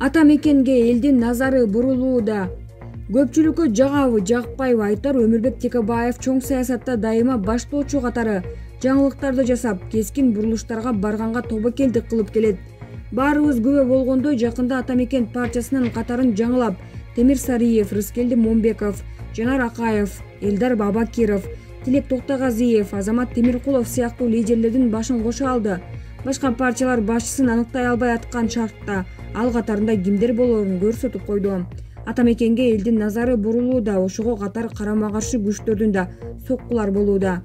Ата мекенге элдин назары бурулууда. Көпчүлүккө жагабы, жакпайбы айтар Өмүрбек Текебаев чоң саясатта дайыма баштоочу катары жаңылыктарды жасап, кескин бурулуштарга барганга тобокелдик кылып келет. Баарыбыз күбө болгондой, жакында Ата мекен партиясынын катарын жаңылап, Темир Сариев, Рыскелди Момбеков, Жанар Акаев, Элдар Бабакиров, Тилек Токтогазиев, Азамат Темиркулов сыяктуу лидерлердин башын кошо алды. Башка партиялар башчысын аныктай албай аткан шартта ал катарында кимдер болоорун көрсөтүп койду. Ата мекенге элдин назары бурулууда, ошого катар карама каршы күчтөрдүн да соккулар болууда.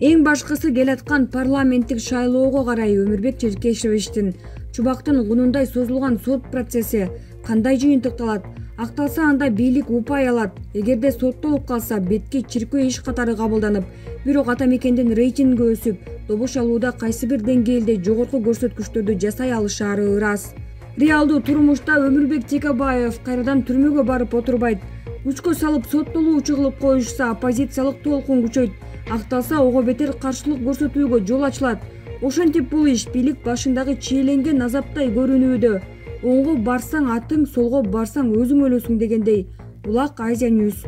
Эң башкысы келаткан парламенттик шайлоого карай Өмүрбек Черкешевичтин чубактын гунундай созулган сот процесси кандай жыйынтыкталат? Акталса анда бийлик упай алат. Эгерде соттолуп калса, бетке чиркөө иш катары кабылданып, бирок Ата мекендин рейтинги өсүп, добуш алууда кайсы бир деңгээлде жогорку көрсөткүчтөрдү жасай алышаары ырас. Реалдуу турмушта Өмүрбек Текебаев кайрадан түрмөгө барып отурбайт. Күчкө салып соттолуучу кылып коюшса, оппозициялык толкун күчөйт. Акталса, ого бетер каршылык көрсөтүүгө жол ачылат. Ошентип бул иш бийлик башындагы чиеленген азаптай көрүнүүдө. Оңго барсаң атың, солго барсаң өзүң өлөсүң дегендей. Булак Азия News.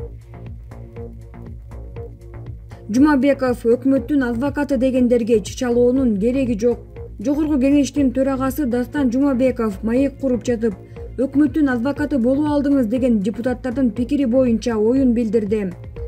Жумабеков өкмөттүн адвокаты дегендерге чычалоонун кереги жок. Жогорку кеңештин төрагасы Дастан Жумабеков маек куруп жатып, өкмөттүн адвокаты болуп алдыңыз деген депутаттардын пикири боюнча оюн билдирди.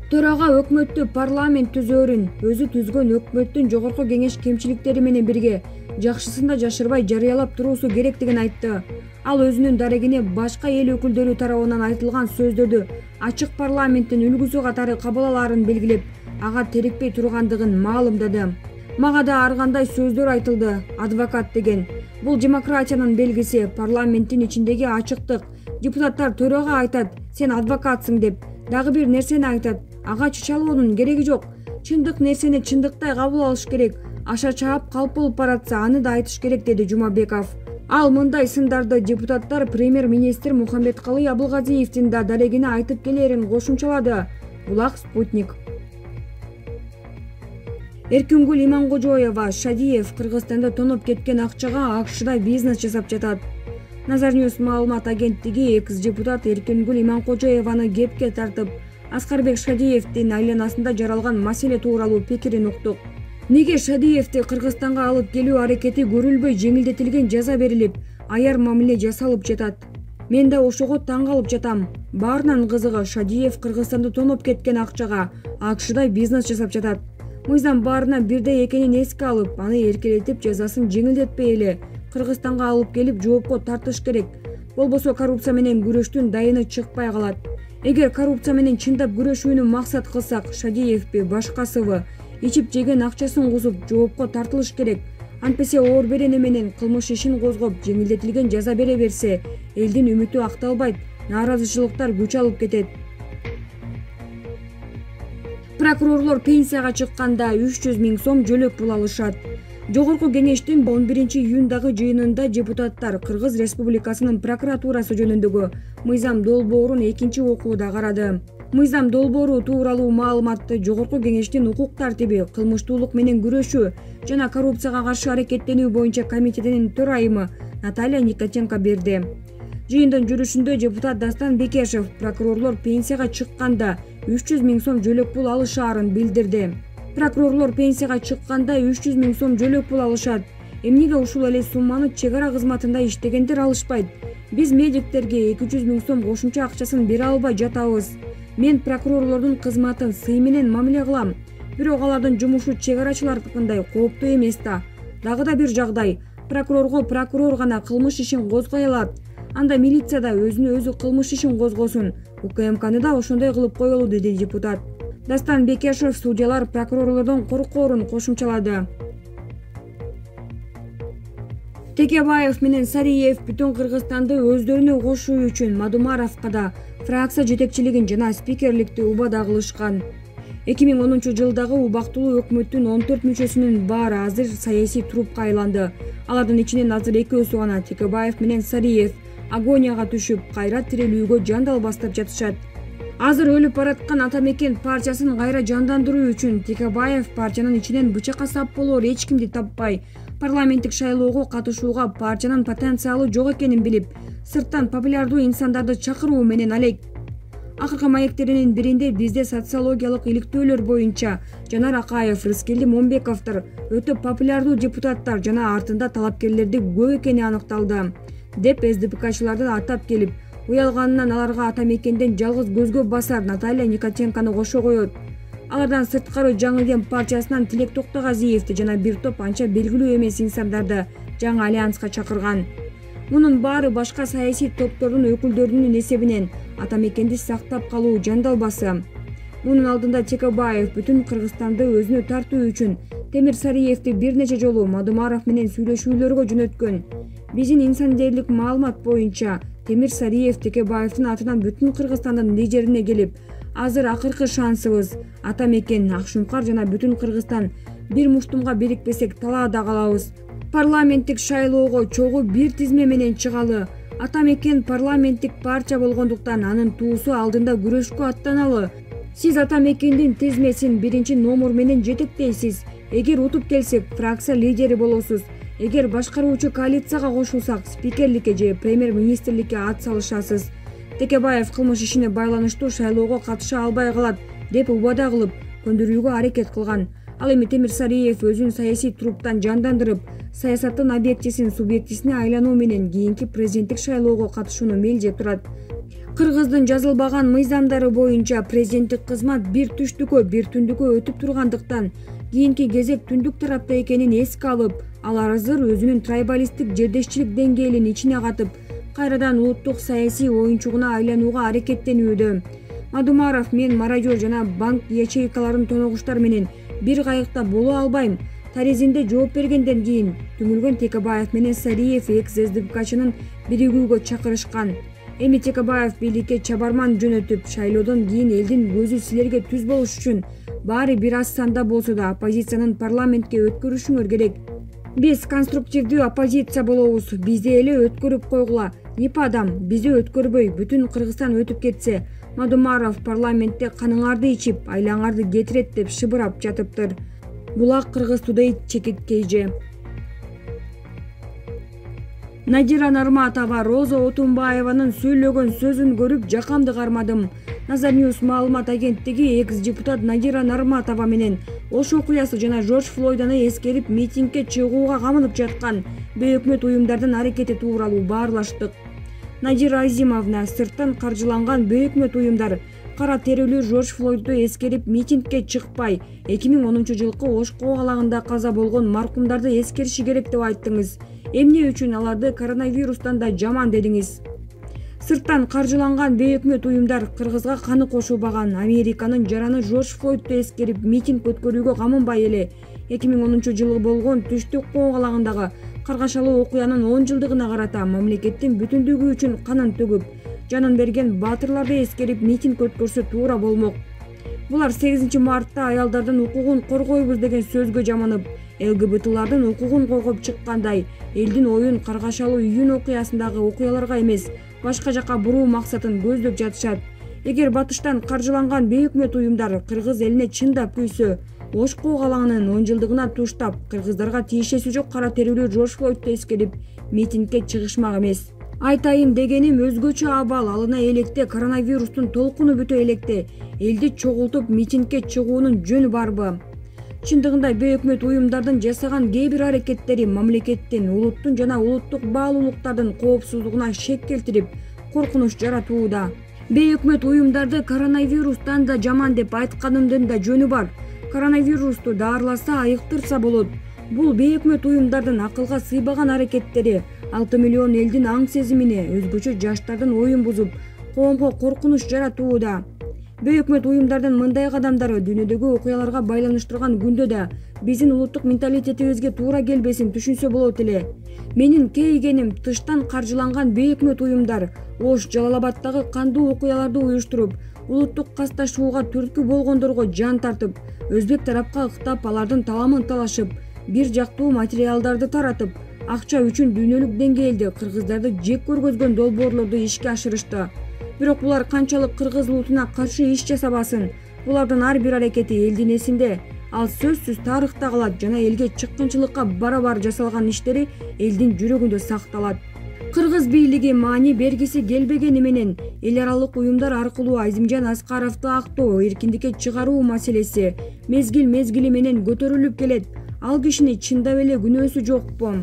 Төрага өкмөттү парламент түзөөрүн, өзү түзгөн өкмөттүн жогорку кеңеш кемчиликтери менен бирге жакшысын да жашырбай жарыялап туруусу керектигин айтты. Ал өзүнүн дарегине башка эл өкүлдөрү тарабынан айтылган сөздөрдү ачык парламенттин үлгүсү катары кабыл алаарын белгилеп, ага терикпей тургандыгын маалымдады. Мага да ар кандай сөздөр айтылды, адвокат деген. Бул демократиянын белгиси, парламенттин ичиндеги ачыктык. Депутаттар төрага айтат, сен адвокатсың деп, дагы бир нерсени айтат, ага чычалоонун кереги жок. Чындык нерсени чындыктай кабыл алыш керек. Аша чаап калп болуп баратса, аны да айтыш керек, деди Жумабеков. Ал мындай сындарды депутаттар премьер-министр Мухаммедкалый Абылгазиевдин да дарегине айтып келерин кошумчалады. Булак Спутник. Эркингүл Иманкожоева, Шадиев Кыргызстанда тоноп кеткен акчага АКШда бизнес жасап жатат. Назар News маалымат агенттиги экс-депутат Эркингүл Иманкожоеваны кепке тартып, Аскарбек Шадиевдин айланасында жаралган маселе тууралуу пикирин уктук. Неге Шадиевди Кыргызстанга алып келүү аракети көрүлбөй жеңилдетилген жаза берилип, аяр мамиле жасалып жатат? Мен да ошого таң калып жатам. Баарынан кызыгы, Шадиев Кыргызстанда тоноп кеткен акчага АКШда бизнес жасап жатат. Мыйзам баарына бирдей экенин эске алып, аны эркелетип жазасын жеңилдетпей эле Кыргызстанга алып келип жоопко тартыш керек. Болбосо коррупция менен күрөштүн дайыны чыкпай калат. Эгер коррупция менен чындап күрөшүүнү максат кылсак, Шадиевби, башкасыбы ичип жеген акчасын кусуп жоопко тартылыш керек. Антпесе оор берене менен кылмыш ишин козгоп, жеңилдетилген жаза бере берсе, элдин үмүтү акталбайт, нааразычылыктар күч алып кетет. Прокурорлор пенсияга чыкканда 300 000 сом жөлөк пул алышат. Жогорку кеңештин 11-июндагы жыйынында депутаттар Кыргыз Республикасынын прокуратурасы жөнүндөгү мыйзам долбоорун экинчи окууда карады. Мыйзам долбоору тууралуу маалыматты Жогорку кеңештин укук тартиби, кылмыштуулук менен күрөшүү жана коррупцияга каршы аракеттенүү боюнча комитетинин төрайымы Наталья Никитенко берди. Жыйындын жүрүшүндө депутат Дастан Бекешев прокурорлор пенсияга чыкканда 300 000 сом жөлөк пул алышаарын билдирди. Прокурорлор пенсияга чыкканда 300 000 сом жөлөк пул алышат. Эмнеге ушул эле сумманы чек ара кызматында иштегендер алышпайт? Биз медиктерге 200 000 сом кошумча акчасын бере албай жатабыз. Мен прокурорлордун кызматын сый менен мамиле кылам. Бирок алардын жумушу чек арачылардыкындай кооптуу эмес да. Дагы да бир жагдай, прокурорго прокурор гана кылмыш ишин козгой алат. Анда милиция да өзүнө өзү кылмыш ишин козгосун. УКМКны да ошондой кылып коелу, деди депутат. Дастан Бекешев судьялар прокурорлордон коркоорун кошумчалады. Текебаев менен Сариев бүтүн Кыргызстанды өздөрүнө кошуу үчүн Мадумаровго да фракция жетекчилигин жана спикерликти убада кылышкан. 2010 жылдагы убактылуу өкмөттүн 14 мүчөсүнүн баары азыр саясий трупка айланды. Алардын ичинен азыр экөөсү гана, Текебаев менен Сариев, агонияга түшүп, кайра тирелүүгө жандал бастап жатышат. Азыр өлүп бараткан Ата мекен партиясын кайра жандандыруу үчүн Текебаев партиянын ичинен бычакка сап болоор эч кимди таппай, парламенттик шайлоого катышууга партиянын потенциалы жок экенин билип, сырттан популярдуу инсандарды чакыруу менен алек. Акыркы маектеринин биринде бизде социологиялык иликтөөлөр боюнча Жанар Акаев, Рыскелди Момбековдор өтө популярдуу депутаттар жана артында талапкерлерди көп экени аныкталды, деп СДПКчыларды атап келип, уялганынан аларга ата мекенден жалгыз көзгө басар Наталья Никотенкону кошо коет. Алардан сырткары Жаңы Дем партиясынан Тилек Токтогазиевди жана бир топ анча белгилүү эмес инсандарды жаңы альянска чакырган. Мунун баары башка саясий топтордун өкүлдөрүнүн эсебинен ата мекенди сактап калуу жандалбасы. Мунун алдында Текебаев бүтүн Кыргызстанды өзүнө тартуу үчүн Темир Сариевди бир нече жолу Мадумаров менен сүйлөшүүлөргө жөнөткөн. Биздин инсандерлик маалымат боюнча Темир Сариев Текебаевдин атынан бүтүн Кыргызстандын лидерине келип, азыр акыркы шансыбыз ата мекен, Акшумкар жана бүтүн Кыргызстан бир муштумга бирикпесек талаада калабыз. Парламенттик шайлоого чогуу бир тизме менен чыгалы. Ата мекен парламенттик партия болгондуктан анын туусу алдында күрөшкө аттаналы. Сиз ата мекендин тизмесин биринчи номер менен жетектейсиз. Эгер утуп келсек, фракция лидери болосуз. Эгер башкаруучу коалицияга кошулсак, спикерликке же премьер-министрликке ат салышасыз. Текебаев кылмыш ишине байланыштуу шайлоого катыша албай калат деп убада кылып, көндүрүүгө аракет кылган. Ал эми Темир Сариев өзүн саясий труптан жандандырып, саясаттын объектисин субъектисине айлануу менен кийинки президенттик шайлоого катышууну мелдеп турат. Кыргыздын жазылбаган мыйзамдары боюнча президенттик кызмат бир түштүккө, бир түндүккө өтүп тургандыктан кийинки кезек түндүк тарапта экенин эске алып, ал азыр өзүнүн трайбалисттик жердешчилик деңгээлин ичине катып, кайрадан улуттук саясий оюнчугуна айланууга аракеттенүүдө. Мадумаров: мен марожер жана банк ячейкаларын тоногуштар менен бир кайыкта боло албайм. Таризимде жооп бергенден кийин түңүлгөн Текебаев менен Сариев экс-СДПКчынын биригүүгө чакырышкан. Эми Текебаев бийликке чабарман жөнөтүп, шайлоодон кийин элдин көзү силерге түз болуш үчүн баары бир аз санда болсо да оппозициянын парламентке өткөрүшүңөр керек. Биз конструктивдүү оппозиция болобуз. Бизди эле өткөрүп койгула. ИП адам бизди өткөрбөй, бүтүн Кыргызстан өтүп кетсе, Мадумаров парламентте каныңарды ичип, айлаңарды кетирет деп шыбырап жатыптыр. Булак Кыргыз Today чекиткейже. Надира Нарматова: Роза Отунбаеванын сүйлөгөн сөзүн көрүп жакамды кармадым. Nazar News маалымат агенттиги экс-депутат Надира Нарматова менен Ош окуясы жана Жорж Флойданы эскерип митингге чыгууга камынып жаткан бейөкмөт уюмдардын аракети тууралуу баарлаштык. Надира Азимовна: сырттан каржыланган бейөкмөт уюмдар кара терилүү Жорж Флойдду эскерип митингге чыкпай, 2010-жылкы Ош коогалагында каза болгон маркумдарды эскериши керек деп айттыңыз. Эмне үчүн аларды коронавирустан да жаман дедиңиз? Сырттан каржыланган бейөкмөт уюмдар Кыргызга каны кошулбаган Американын жараны Жорж Флойдду эскерип митинг өткөрүүгө камынбай эле 2010-жылы болгон түштүк коогалагындагы каргашалуу окуянын 10 жылдыгына карата мамлекеттин бүтүндүгү үчүн канын төгүп, жанын берген баатырларды эскерип митинг өткөрсө туура болмок. Булар 8 мартта аялдардын укугун коргойбуз деген сөзгө жаманып, ЛГБТлардын укугун коргоп чыккандай, элдин оюн каргашалуу июнь окуясындагы окуяларга эмес, башка жака буруу максатын көздөп жатышат. Эгер батыштан каржыланган бейөкмөт уюмдар Кыргыз элине чындап күйсө, Ош коогалагынын 10 жылдыгына туштап, кыргыздарга тиешеси жок кара терилүү Жорж Флойдду эскерип митингге чыгышмак эмес. Айтайын дегеним өзгөчө абал алына электе, коронавирустун толкуну бүтө электе элди чогултуп митингге чыгуунун жөнү барбы? Чындыгында бейөкмөт уюмдардын жасаган кээ бир аракеттери мамлекеттин, улуттун жана улуттук баалуулуктардын коопсуздугуна шек келтирип, коркунуч жаратууда. Бейөкмөт уюмдарды коронавирустан да жаман деп айтканымдын да жөнү бар. Коронавирусту даарыласа, айыктырса болот. Бул бейөкмөт уюмдардын акылга сыйбаган аракеттери 6 миллион элдин аң сезимине, өзгөчө жаштардын оюн бузуп, коомго коркунуч жаратууда. Бейөкмөт уюмдардын мындай кадамдары дүйнөдөгү окуяларга байланыштырган күндө да биздин улуттук менталитетибизге туура келбесин түшүнсө болот эле. Менин кейигеним тыштан каржыланган бейөкмөт уюмдар Ош, Жалал-Абаддагы кандуу окуяларды уюштуруп, улуттук касташууга түрткү болгондорго жан тартып, өзбек тарапка ыктап, алардын таламын талашып, бир жактуу материалдарды таратып, акча үчүн дүйнөлүк деңгээлде кыргыздарды жек көргөзгөн долбоорлорду ишке ашырышты. Бирок булар канчалык кыргыз улутуна каршы иш жасабасын, булардын ар бир аракети элдин эсинде. Ал сөзсүз тарыхта калат жана элге чыккынчылыкка барабар жасалган иштери элдин жүрөгүндө сакталат. Кыргыз бийлиги маани бергиси келбегени менен эл аралык уюмдар аркылуу Азимжан Аскаровду актоо, эркиндикке чыгаруу маселеси мезгил менен көтөрүлүп келет. Ал кишини чындап эле күнөөсү жокпу?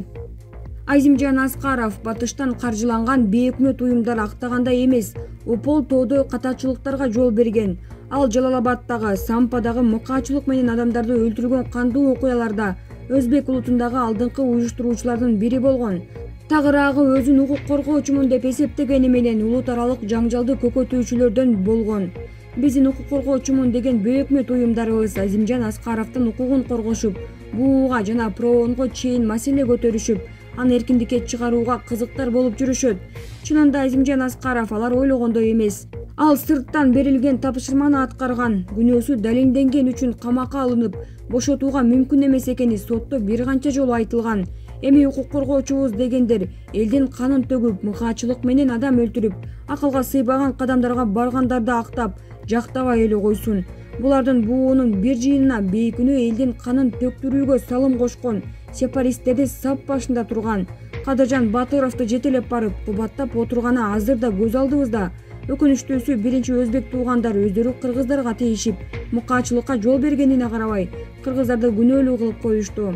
Азимжан Аскаров батыштан каржыланган бейөкмөт уюмдар актагандай эмес, Опол тоодой катачылыктарга жол берген. Ал Жалал-Абаддагы, Сампадагы мыкаачылык менен адамдарды өлтүргөн кандуу окуяларда өзбек улутундагы алдыңкы уюштуруучулардын бири болгон. Тагыраагы өзүн укук коргоочумун деп эсептегени менен улут аралык жаңжалды көкөтүүчүлөрдөн болгон. Биздин укук коргоочумун деген бейөкмөт уюмдарыбыз Азимжан Аскаровдун укугун коргошуп, БУга жана ПРООНго чейин маселе көтөрүшүп, аны эркиндикке чыгарууга кызыктар болуп жүрүшөт. Чынында Азимжан Аскаров алар ойлогондой эмес. Ал сырттан берилген тапшырманы аткарган, күнөөсү далилденген үчүн камакка алынып, бошотууга мүмкүн эмес экени сотто бир канча жолу айтылган. Эми укук коргоочубуз дегендер элдин канын төгүп, мыкаачылык менен адам өлтүрүп, акылга сыйбаган кадамдарга баргандарды актап, жактабай эле койсун. Булардын буунун бир жыйынына бейкүнөө элдин канын төктүрүүгө салым кошкон сепаристтерди сап башында турган Кадыржан Батыровду жетелеп барып кубаттап отурганы азыр да көз алдыбызда. Өкүнүчтүүсү биринчи өзбек туугандар өздөрү кыргыздарга тийишип, мыкаачылыкка жол бергенине карабай, кыргыздарды күнөөлүү кылып коюшту.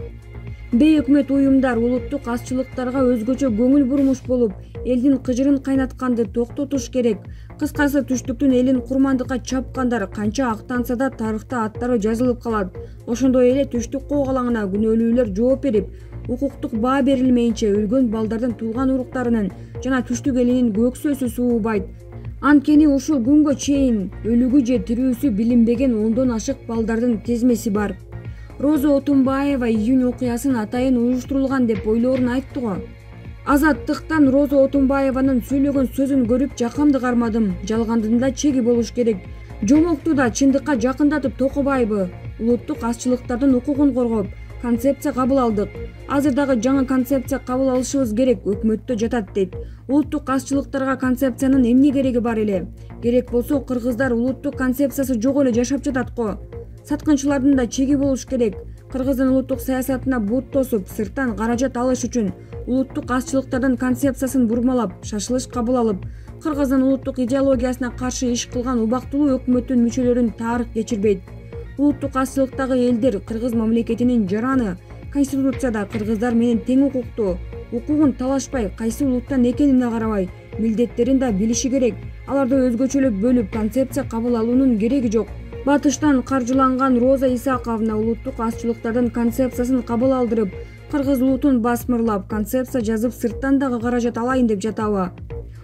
Бейөкмөт уюмдар улуттук азчылыктарга өзгөчө көңүл бурмуш болуп, элдин кыжырын кайнатканды токтотуш керек. Кыскасы, түштүктүн элин курмандыкка чапкандар канча актанса да тарыхта аттары жазылып калат. Ошондой эле түштүк коогалаңына күнөөлүүлөр жооп берип, укуктук баа берилмейинче өлгөн балдардын туулган уруктарынын жана түштүк элинин көксөсү суубайт. Анткени ушул күнгө чейин өлүгү же тирүүсү билинбеген ондон ашык балдардын тезмеси бар. Роза Отунбаева июнь окуясын атайын уюштурулган деп ойлоорун айтты го. Азаттыктан Роза Отунбаеванын сүйлөгөн сөзүн көрүп жакамды кармадым. Жалгандын да чеги болуш керек. Жомокту да чындыкка жакындатып токобайбы? Улуттук азчылыктардын укугун коргоп, концепция кабыл алдык. Азыр дагы жаңы концепция кабыл алышыбыз керек, өкмөттө жатат дейт. Улуттук азчылыктарга концепциянын эмне кереги бар эле? Керек болсо кыргыздар улуттук концепциясы жок эле жашап жатат го. Саткынчылардын да чеги болуш керек. Кыргыздын улуттук саясатына бут тосуп, сырттан каражат алыш үчүн улуттук азчылыктардын концепциясын бурмалап, шашылыш кабыл алып, Кыргыздын улуттук идеологиясына каршы иш кылган убактылуу өкмөттүн мүчөлөрүн тарых кечирбейт. Улуттук азчылыктагы элдер Кыргыз мамлекетинин жараны, Конституцияда кыргыздар менен тең укуктуу, укугун талашпай, кайсы улуттан экенине карабай, милдеттерин да билиши керек. Аларды өзгөчөлөп бөлүп, концепция кабыл алуунун кереги жок. Батыштан каржыланган Роза Исаковна улуттук азчылыктардын концепциясын кабыл алдырып, кыргыз улутун басмырлап, концепция жазып, сырттан дагы каражат алайын деп жатабы?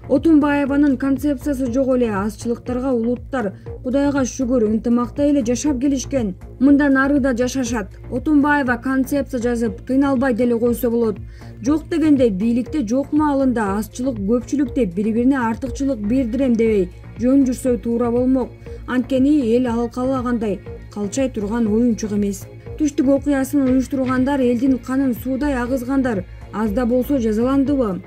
Отунбаеванын концепциясы жок эле. Азчылыктарга улуттар, Кудайга шүгүр, ынтымакта эле жашап келишкен. Мындан ары да жашашат. Отунбаева концепция жазып, кыйналбай деле койсо болот. Жок дегенде бийликте жок маалында азчылык көпчүлүк деп бири-бирине артыкчылык бердирем дебей жөн жүрсө туура болмок. Анткени эл ал каалагандай калчай турган оюнчук эмес. Түштүк окуясын уюштургандар, элдин канын суудай агызгандар аз да болсо жазаландыбы?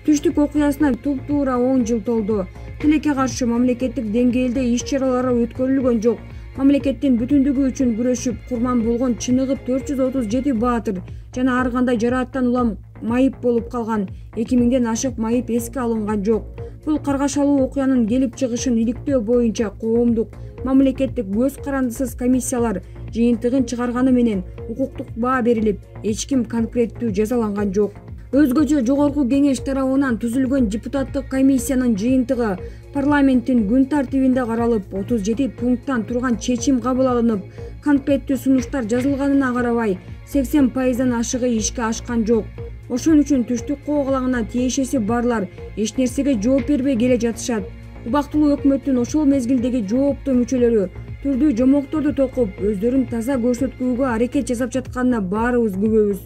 Түштүк окуясына туп-туура 10 жыл толду. Тилекке каршы мамлекеттик деңгээлде иш-чаралар өткөрүлгөн жок. Мамлекеттин бүтүндүгү үчүн күрөшүп, курман болгон чыныгы 437 баатыр жана ар кандай жарааттан улам майып болуп калган 2000ден ашык майып эске алынган жок. Бул каргашалуу окуянын келип чыгышын иликтөө боюнча коомдук, мамлекеттик көз карандысыз комиссиялар жыйынтыгын чыгарганы менен укуктук баа берилип, эч ким конкреттүү жазаланган жок. Өзгөчө жогорку кеңеш тарабынан түзүлгөн депутаттык комиссиянын жыйынтыгы парламенттин күн тартибинде каралып, 37 пункттан турган чечим кабыл алынып, конкреттүү сунуштар жазылганына карабай, 80%дан ашыгы ишке ашкан жок. Ошон үчүн түштүк коогалаңына тиешеси барлар эч нерсеге жооп бербей келе жатышат. Убактылуу өкмөттүн ошол мезгилдеги жооптуу мүчөлөрү түрдүү жомокторду токуп, өздөрүн таза көрсөткүүгө аракет жасап жатканына баарыбыз күбөбүз.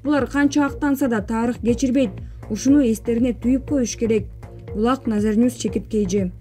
Булар канча актанса да тарых кечирбейт. Ушуну эстерине түйүп коюш керек. Булак, Назарньюс, Чекит KG.